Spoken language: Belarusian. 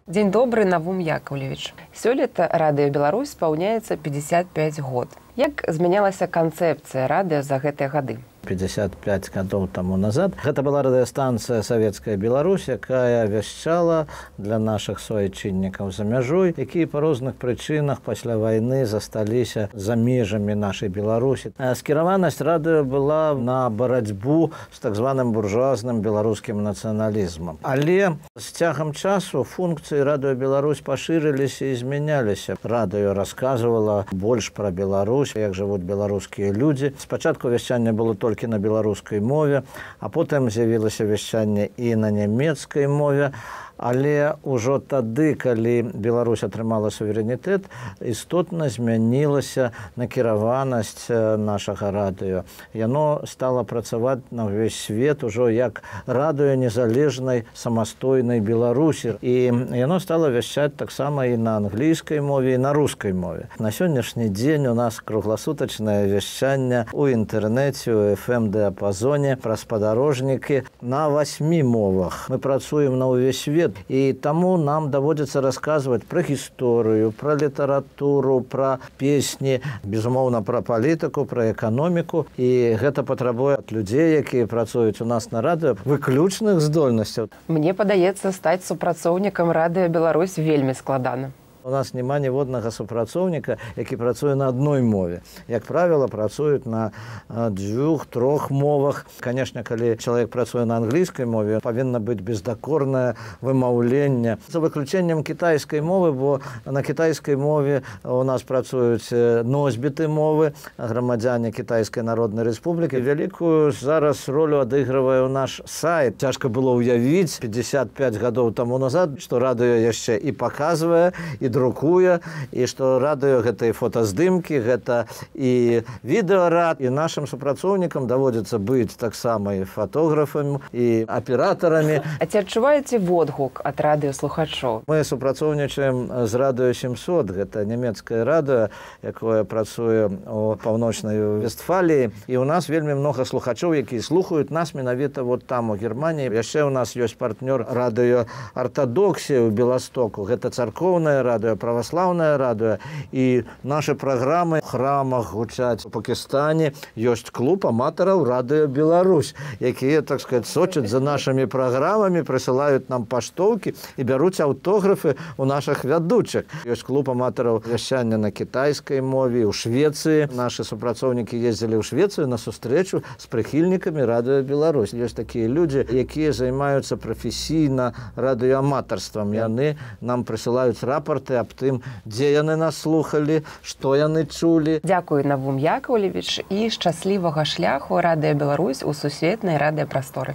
Дзень добры, Навум Яковлевич. Сёлета Радыё Беларусь спаўняецца 55 год. Як змянялася канцэпцыя радыё за гэтыя гады? 55 гадоў таму назад. Гэта была радыёстанцыя «Савецкая Беларусь», якая вяшчала для нашых суайчыннікаў за мяжой, якія па розных прычынах пасля вайны засталіся за межамі нашай Беларусі. Скіраванасць радыё была на барацьбу з так званым буржуазным беларускім нацыяналізмам. Але з цягам часу функцыі Радыё Беларусь пашырыліся і змяняліся. Радыё расказвала больш пра Беларусь, як жывуць беларускія людзі. Спачатку вяшчанне было толькі на беларускай мове, а потым з'явілася вяшчанне і на нямецкай мове. Але ўжо тады, калі Беларусь атрымала суверэнітэт, істотна змянілася накіраванасць нашага радыё. Яно стала працаваць на ўвесь свет ужо як радыё незалежнай самастойнай Беларусі. І яно стала вяшчаць таксама і на англійскай мове, і на рускай мове. На сённяшні дзень у нас кругласутачнае вяшчанне ў інтэрнэце, у FM-дыапазоне, праз падарожнікі на 8 мовах. Мы працуем на ўвесь свет. І таму нам даводзіцца расказваць пра гісторыю, пра літаратуру, пра песні, безумоўна, пра палітыку, пра эканоміку. І гэта патрабуе ад людзей, якія працуюць у нас на радыё, выключных здольнасцяў. Мне падаецца, стаць супрацоўнікам Радыё Беларусь вельмі складана. У нас няма ніводнага супрацоўніка, які працуе на адной мове. Як правіла, працуюць на 2-3 мовах. Канешне, калі чалавек працуе на англійскай мове, павінна быць бездакорнае вымаўленне. За выключэннем кітайскай мовы, бо на кітайскай мове у нас працуюць носьбіты мовы, грамадзяне Кітайскай Народнай Рэспублікі. Вялікую зараз ролю адыгрывае наш сайт. Цяжка было ўявіць 55 гадоў таму назад, што радыё яшчэ і паказвае, і друкуе, і што радыё гэта і фотаздымкі, гэта і відэарад, і нашым супрацоўнікам даводзіцца быць таксама і фотографамі, і аператарамі. А ці адчуваеце водгук ад радыёслухачоў? Мы супрацоўнічаем з Радыё 700, гэта нямецкае радыё, якое працуе ў паўночнай Вестфаліі, і ў нас вельмі многа слухачоў, якія слухаюць нас менавіта вот там, у Германіі. Яшчэ ў нас ёсць партнёр радыё «Артадоксія» ў Беластоку, гэта царкоўнае радыё, праваслаўнае радыё, і нашы праграмы ў храмах гучаць у Пакістане. Ёсць клуб аматараў Радыё Беларусь, якія, так сказать, сочаць за нашымі праграмамі, прысылаюць нам паштоўкі і бяруць аўтографы ў нашых вядучых. Ёсць клуб аматараў вяшчання на кітайскай мове, ў Швецыі. Нашы супрацоўнікі ездзілі ў Швецыю на сустрэчу з прыхільнікамі Радыё Беларусь. Ёсць такія людзі, якія займаюцца прафесійна радыёаматарствам. Яны нам прысылаюць рапорты аб тым, дзе яны нас слухалі, што яны чулі. Дзякую, Навум Яковлевич, і шчаслівага шляху Радыё Беларусь у сусветнай радыёпрасторы.